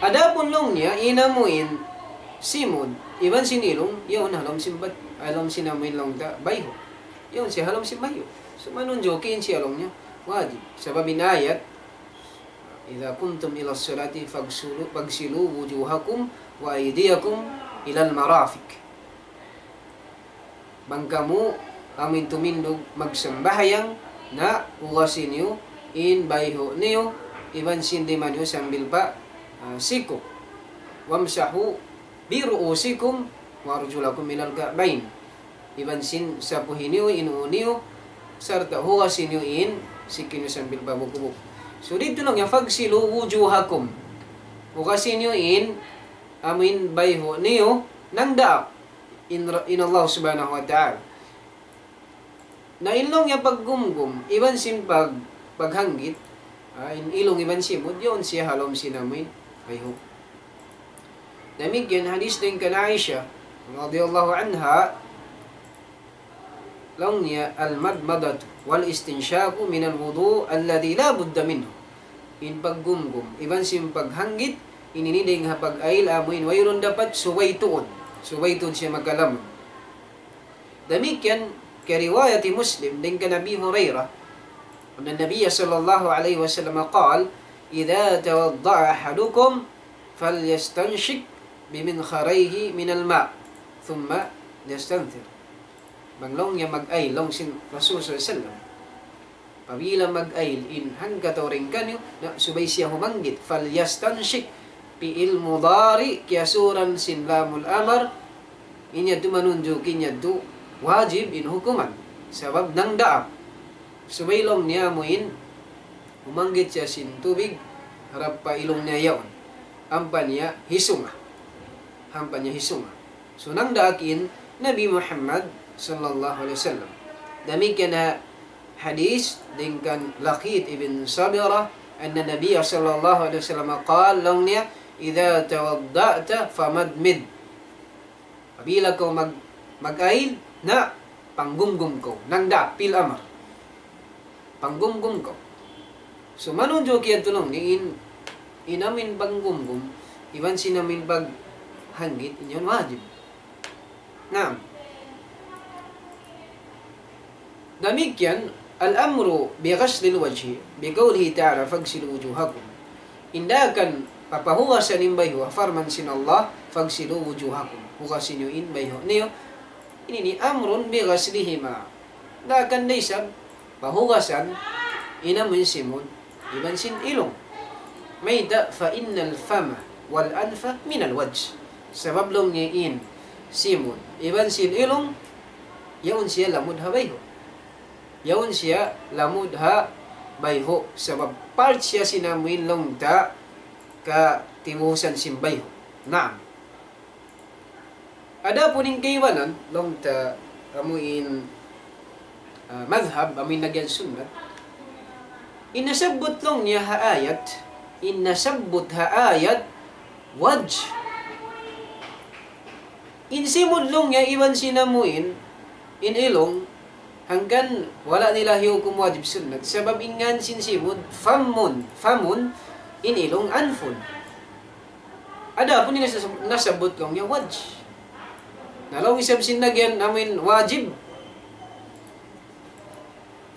Adapun laung niya, in amuin simud, iban sin ilung, yaun ha lawm sin bat-, ha lawm sin amuin laung ta, bayhu'. Yaun siya ha lawm sin bayhu'. So, manunjuki in siya laung niya, wajib. Sabab in ayat, إذا قمتم إلى الصلاة فاغسلوا، فاغسلوا وجوهكم وأيديكم إلى المرافق. Bang kamu amuin tumindug magsambahayang, na hugasi niyu in bayhu' niyu, iban sin lima niyu sambil pa, ah, siku'. وامسحوا برءوسكم وأرجلكم إلى الكعبين. Iban sin sapuhi niyu in ū niyu, sarta' hugasi niyu in siki niyu sambil pa bukubuk. So, didtu laung niya, فاغسلوا وجوهكم. Hugasi niyu in, amuin bayhu' niyu, nangdaak in, in Allah subhanahu wa ta'ala. Na in laung niya paggumgum, iban sin pag-, paghanggit, ah, in ilung iban simud, yaun siya ha lawm sin amuin bayhu'. Damikkiyan hadith dayn kan Aisha, radiyallahu anha, laung niya, المضمضة والاستنشاق من الوضوء الذي لا بد منه. In paggumgum, iban sin paghanggit, in ini dayn ha pag-ayil amuin wayruun dapat subay tuud. Subay tuud siya makalamud. Damikkiyan, kariwayat Muslim, dayn kan Abi Hurairah, أن النبي صلى الله عليه وسلم قال: إذا توضأ أحدكم فليستنشق بمنخريه من الماء ثم ليستنثر. Bang laung niya mag-ayil, laung sin Rasul sallallahu alayhi wasallam. Apabila mag-ayil in hangkatau dayn kaniyu, na subay siya humanggit. فليستنشق, fi'il mudari', kiyasuran sin lamul amar, in yadtu manunjuki in yadtu wajib in hukuman. Sabab nangdaak. Subay laung niya amuin, humanggit siya sin tubig, harap pa ilung niya yaun. Ampa niya hisunga. Ampa niya hisunga. So, nangdaak in Nabi Muhammad sallallahu alayhi wasallam. Damikkiyan ha hadith dayn kan Laqit ibn Sabirah, أن النبي صلى الله عليه وسلم قال, laung niya, إذا توضأت فمضمض. Apabila kaw mag-, mag-ayil, na panggumgum kaw. Nangdaak, fi'il amar. Panggumgum kaw. So, manunjuki yadtu laung niya in, in amuin panggumgum, iban sin amuin paghanggit, in yaun wajib. Naam. Damikkiyan, الأمر بغسل الوجه بقوله تعالى: فاغسلوا وجوهكم. In daakan papahugasan in bayhu', parman sin Allah, فاغسلوا وجوهكم. Hugasi niyu in bayhu' niyu. Ini ini أمر بغسلهما. Daakan da isab pahugasan in amuin simud iban sin ilung. Mayta'? فإن الفم والأنف من الوجه. Sabab laung niya in simud iban sin ilung, yaun siya lamud ha bayhu'. Yaun siya lamud ha bayhu'. Sabab part siya sin amuin laung ta katibusan sin bayhu'. Naam. Adapun in kaibanan, laung ta amuin, ah, madhhab, amuin nagyan sunnat. In nasabbut laung niya ha ayat, in nasabbut ha ayat, wajh. In simud laung niya iban sin amuin, in ilung, hangkan wala' nila hiyukum wajib sunnat. Sabab in ngan sin simud, famun, famun, in ilung, anfun. Adapun in nasab-, nasabbut laung niya wajh. Na laung isab sin nagyan amuin wajib.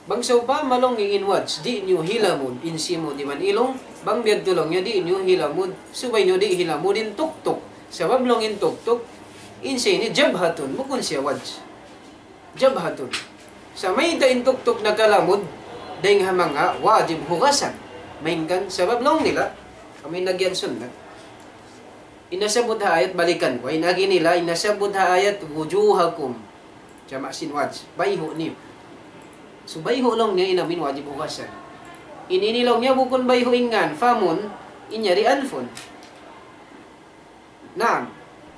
Bang sawpama laung niya in wajh, di' niyu hilamud in simud iban ilung, bang biya' hadtu laung niya di' niyu hilamud, subay niyu di' hilamud in tuktuk. Sabab laung in tuktuk, in siya ini jabhatun, bukun siya wajh. Jabhatun. Sa' mayta' in tuktuk nakalamud, dayn ha manga wajib hugasan. Malayngkan sabab laung nila, amuin nagyan sunnat. In nasabbut ha ayat balikan ku. In agi nila, in nasabbut ha ayat wujuhakum. Jama' sin wajh. Bayhu' niyu. So, bayhu' laung niya in amuin wajib hugasan. In ini laung niya bukun bayhu' in ngan, famun, in yari anfun. Naam.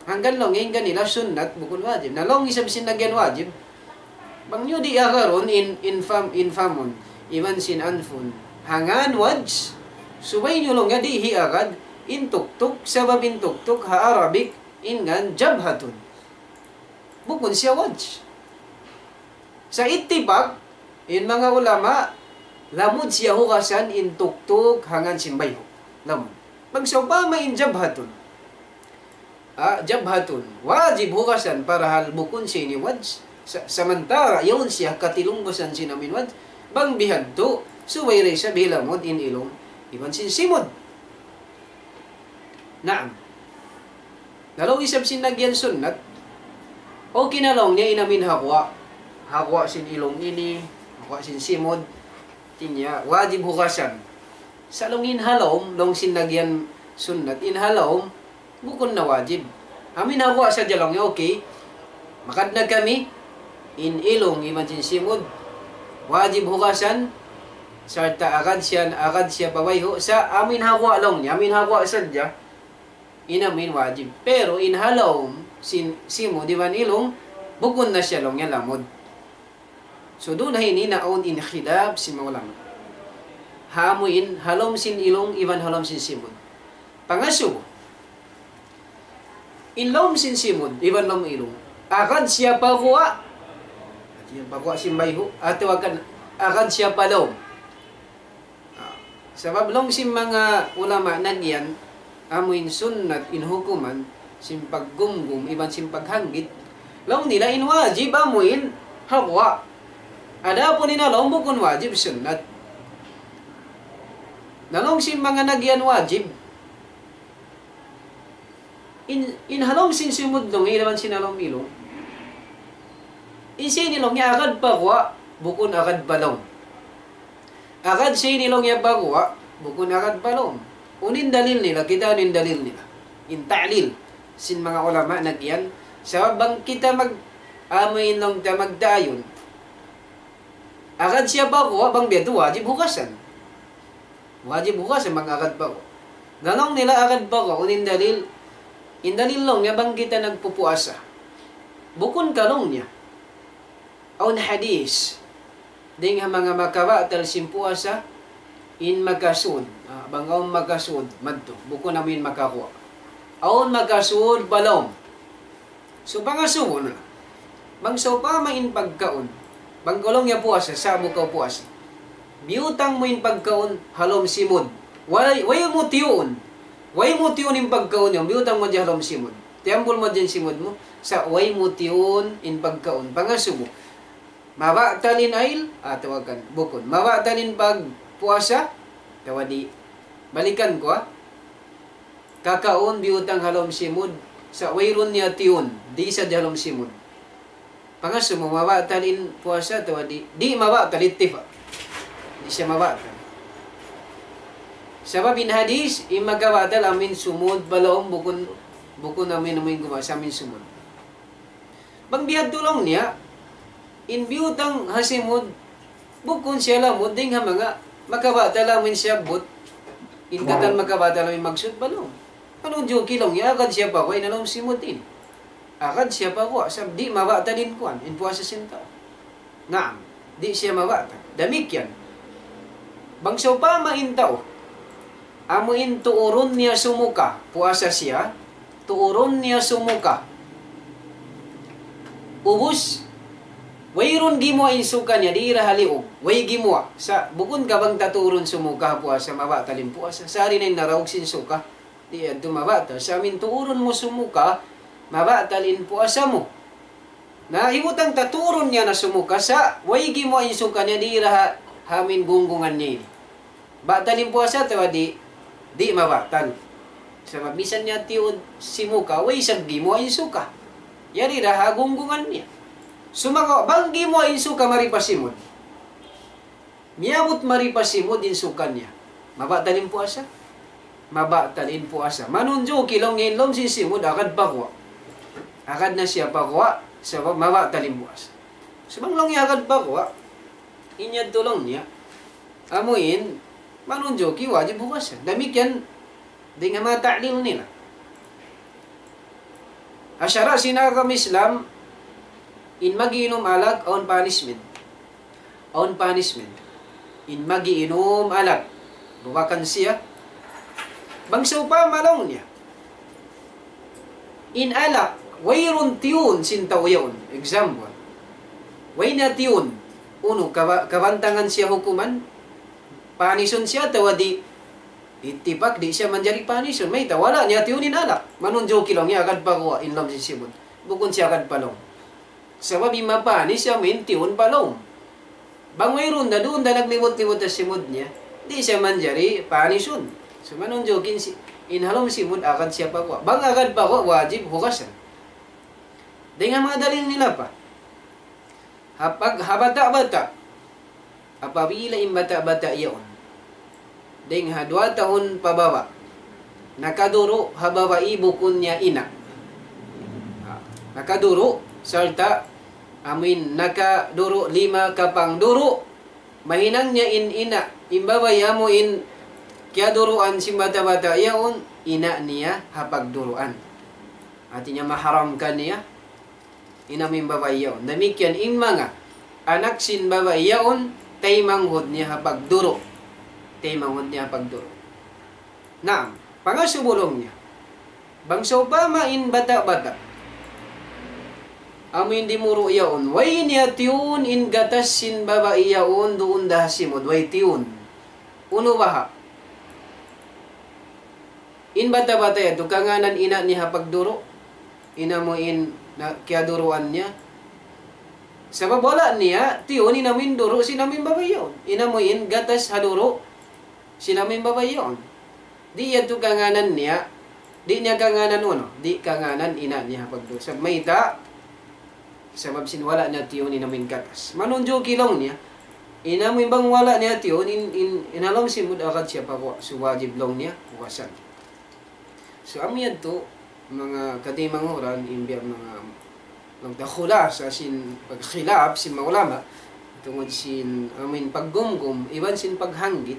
Hangkan laung niya in kanila sunnat, bukun wajib. Na laung isab sin nagiyan wajib. Bang niyu di' agarun in, in fam, in famun, iban sin anfun. Ha ngan wajh, subay niyu laung niya di' hiagad in tuktuk, sabab in tuktuk ha Arabic, in ngan jabhatun. Bukun siya wajh. Sa' ittifaq, in manga ulama, lamud siya hugasan in tuktuk ha ngan sin bayhu'. Lamud. Bang sawpama in jabhatun. Ah, jabhatun. Wajib hugasan parahal bukun siya ini wajh. Sa-, samantara' yaun siya katilungbasan sin amin wajh. Bang bihadtu, subay da isab hilamud in ilung iban sin simud. Naam. Na laung isab sin nagiyan sunnat, okay na laung niya in amin ha guwa'. Ha guwa' sin ilung ini, ha guwa' sin simud. Hati niya, wajib hugasan. Sa' laung in ha lawm, laung sin nagiyan sunnat, in ha lawm, bukun na wajib. Amin ha guwa' sadja laung niya, okay. Magad na kami, in ilung iban sin simud, wajib hugasan, sarta' agad siya, agad siya pa bayhu', sa' amin ha guwa' laung niya, amin ha guwa' sadja, in amin wajib. Pero in ha lawm, sin, simud iban ilung, bukun na siya laung niya lamud. So, duun ha ini na awn in khilaf sin manga ulama. Ha amu in, ha lawm sin ilung, iban ha lawm sin simud. Pangasubu. In lawm sin simud, iban lawm ilung. Agad siya pa guwa'. Hati niya pa guwa' sin bayhu', atawa kan agad siya pa lawm. Ah, sabab laung sin manga ulama nagiyan, amu in sunnat, in hukuman, sin paggumgum, iban sin paghanggit. Laung nila in wajib, amu in ha guwa'. Adapun in ha lawm bukun wajib, sunnat. Na laung sin manga nagiyan wajib, in, in ha lawm sin simud laung, iban sin ha lawm ilung. In siya ini laung niya agad pa guwa', bukun agad pa lawm. Agad siya ini laung niya pa guwa', bukun agad pa lawm. Unu in dalil nila, kitaa niyu in dalil nila. In ta'lil, sin manga ulama nagiyan. Sabab bang kita mag, amu in laung ta magta'yin. Agad siya pa guwa', bang biya' tu wajib hugasan. Wajib hugasan bang agad pa guwa'. Na laung nila agad pa guwa', unu in dalil, in dalil laung niya bang kita nagpupuasa. Bukun ka laung niya. Awn hadith. Dayn ha manga makabatal sin puasa, in makasud. Ah, bang awn makasud, madtu. Bukun amu in makaguwa'. Awn makasud pa lawm. So, pangasubu na. Bang sawpama in pagkaun. Bang kaw laung niya puasa, sa'bu kaw puasa. Biyutang mu in pagkaun, ha lawm simud. Way, way mu tiyuun. Way mu tiyuun in pagkaun yan, biyutang mu hadja ha lawm simud. Tiyambul mu hadja in simud mu, sa' way mu tiyuun in pagkaun. Pangasubu. Mabatal in ayl, atawa kan, bukun. Mabatal in pagpuasa, atawa di'. Balikan ku, ha. Kakaun biyutang ha lawm simud, sa' wayruun niya tiyuun, di' sadja ha lawm simud. Pangasubu mu, mabatal in puasa, atawa di', di' mabatal, ittifaq. Di' siya mabatal. Sabab in hadith, in makabatal, amu in sumud pa lawm, bukun, bukun amu in, amu in gumasa, amu in sumud. Bang biyadtu laung niya, in biyutang ha simud, bukun siya lamud dayn ha manga makabatal amu in siyabbut, in katan makabatal amu in maksud pa lawm. Unu in juki laung niya, agad siya pa guwa' in ha lawm simud ini. Agad siya pa guwa', sabab di' mabatal in kuwan, in puasa sin tau. Naam, di' siya mabatal. Damikkiyan. Bang sawpama in tau, amu in tuurun niya sumuka, puasa siya, tuurun niya sumuka. Ubus, wayruun gimuwa' in suka niya, di' ra ha liug, way gimuwa'. Sa' bukun ka bang ta tuurun sumuka ha puasa, mabatal in puasa. Sa' di' na in naraug sin suka, di' yadtu mabatal. Sa' amu in tuurun mu sumuka, mabatal in puasa mu. Na, hibutang ta tuurun niya na sumuka sa', way gimuwa' in suka niya di' ra ha, ha amu in gunggungan niya ini. Batal in puasa atawa di', di' mabatal. Sabab misan niya tiyuun simuka, way isab gimuwa' in suka. Yari ra ha gunggungan niya. Sumagawa', bang gimuwa' in suka mari pa simud. Miyabut mari pa simud in suka niya. Mabatal in puasa? Mabatal in puasa. Manunjuki laung in lawm sin simud agad pa guwa'. Agad na siya pa guwa', sabab mabatal in puasa. Sa' bang laung niya agad pa guwa', in yadtu laung niya. Amu in, Manunjuki wajib hugasan. Damikkiyan dayn ha manga ta'lil nila. Ha sara' sin agama Islam, in mag-iinum alak, awn punishment. Awn punishment. In mag-iinum alak. Duwakan siya. Bang sawpama laung niya, in alak, wayruun tiyun sin tau yaun. Example. Way niya tiyun. Unu, kaba-, kabantangan siya hukuman? Panisun siya atawa di'? Ittipak, di' siya manjari panisun. Mayta', wala' niya tiyun in alak. Manunjuki laung niya agad pa guwa' in lawm sin simud. Bukun siya agad pa lawm. Sabab in mapanis siya, amuin tiyun pa lawm. Bang wayruun da, duun da naglibut-libut ha simud niya, di' siya manjari panisun. So, manunjuki in si-, in ha lawm simud agad siya pa guwa'. Bang agad pa guwa', wajib hugasan. Dayn ha manga dalil nila pa. Ha pag-, ha bata'-bata'. Apabila in bata'-bata' yaun dayn ha duwa tahun pababa', nakaduru' ha babai bukun niya ina'. Ah, nakaduru', sarta' amuin nakaduru' lima kapangduru', mahinang niya in ina', in babai amuin kiyaduruan sin bata'-bata' yaun, ina' niya ha pagduruan. Hati niya maharam kaniya in amuin babai yaun. Damikkiyan in manga anak sin babai yaun, taymanghud niya ha pagduru'. Taymanghud niya ha pagduru'. Naam, pangasubu laung niya. Bang sawpama in bata'-bata', amuin dimuru' yaun, way niya tiyun in gatas sin babai yaun duun da ha simud, way tiyun. Unu baha'? In bata'-bata' yadtu, kangānan ina' niya ha pagduru', in amuin na kiyaduruan niya. Sabab wala' niya tiyun in amuin duru' sin amuin babai yaun. In amuin gatas ha duru' sin amuin babai yaun. Di' yadtu kangānan niya, di' niya kangānan unu, di' kangānan ina' niya ha pagduru'. Sabab mayta', sabab sin wala' niya tiyun in amuin gatas. Manunjuki laung niya, in amuin bang wala' niya tiyun, in, in, in ha lawm simud agad siya pa guwa', so wajib laung niya hugasan. So, amu yadtu, manga kataymanghuran, in biya' manga, laung ta khulasa sin pagkhilaf sin manga ulama, tungud sin amuin paggumgum, iban sin paghanggit,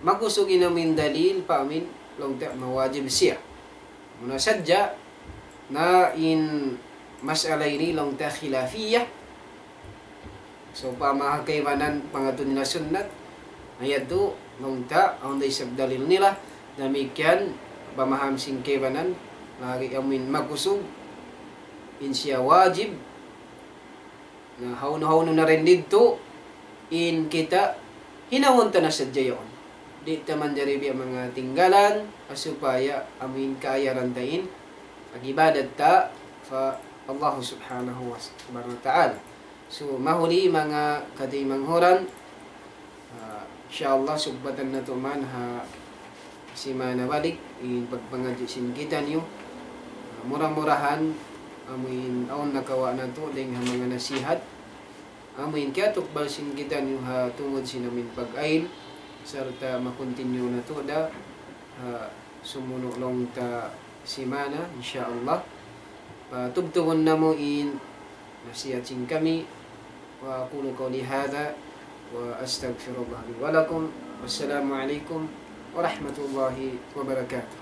makusug in amuin dalil pa amuin laung ta mawajib siya. Muna sadja na in mas'ala ini laung ta khilafiyah. Sawpama ha kaibanan pangatud nila sunnat, na yadtu laung ta awn da isab dalil nila. Damikkiyan pamaham sin kaibanan, lagi' amuin makusug in siya wajib. Na hawnu-hawnu na dayn didtu, in kita hinangun ta na sadja yaun. Di' ta manjari biya' manga tinggalan, supaya amuin kaayaran ta in pag-ibadat ta pa Allah Subhanahu wa, Subhanahu wa Ta'ala. So, mahuli manga kataymanghuran, ah, insya Allah, sugbatan natu' man ha simana balik in pagpangadji' sin kitaniyu. Ah, mura-murahan, amuin awn nakawa' natu' dayn ha manga nasihat, amuin kiyatukbal sin kitaniyu ha tungud sin amuin pag-ail, sarta' ma-continue natu' da ha sumunu' laung ta simana, insya Allah. Patubtubun namu' in nasihat sin kami. وأقول قولي هذا وأستغفر الله لي ولكم. والسلام عليكم ورحمة الله وبركاته.